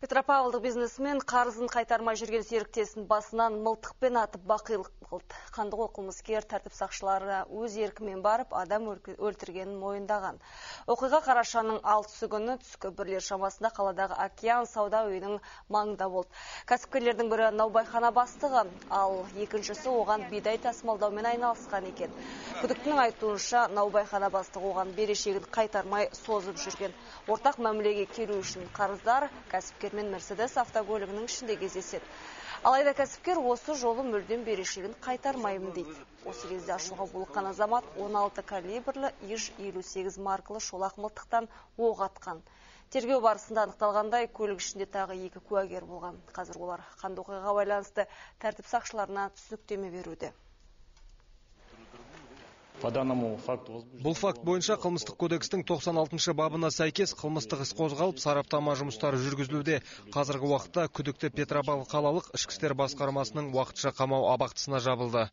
Петропавлдық бизнесмен қарызын қайтармай жүрген серіктесін басынан мылтықпен атып бақилық қылды. Қандықол қылмыскер тәртіп сақшыларына өз еркімен барып адам өлтіргенін мойындаған. Оқиға қарашаның 6 күні түскі 1 шамасында қаладағы Океан сауда үйінің маңында болды. Кәсіпкерлердің бірі наубайхана бастығы, ал екіншісі оған бидай тасымалдаумен айналысқан екен. Күдіктінің айтуынша наубайхана бастығы оған берешегін қайтармай созып жүрген. Ортақ мәмілеге келу үшін қарыздар кәсіпкермен Мерседес автокөлігінің ішінде кездеседі. Алайда кәсіпкер осы жолы мүлдем берешегін қайтармаймын дейді. Осы кезде ашуға булыққан азамат 16 калибрлі ИЖ-58 маркалы шолақ мылтықтан оқ атқан. Тергеу барысында анықталғандай, көлік ішінде тағы 2 куәгер болған. Қазір олар қанды оқиғаға байланысты тәртіп сақшыларына түсініктеме беруде. Бұл факт бойынша қылмыстық кодекстің 96 бабына сәйкес қылмыстық іс қозғалып, сараптама жұмыстары жүргізілуде. Қазіргі уақытта күдікті Петропавл қалалық ішкі істер басқармасының уақытша қамау абақтысына жабылды.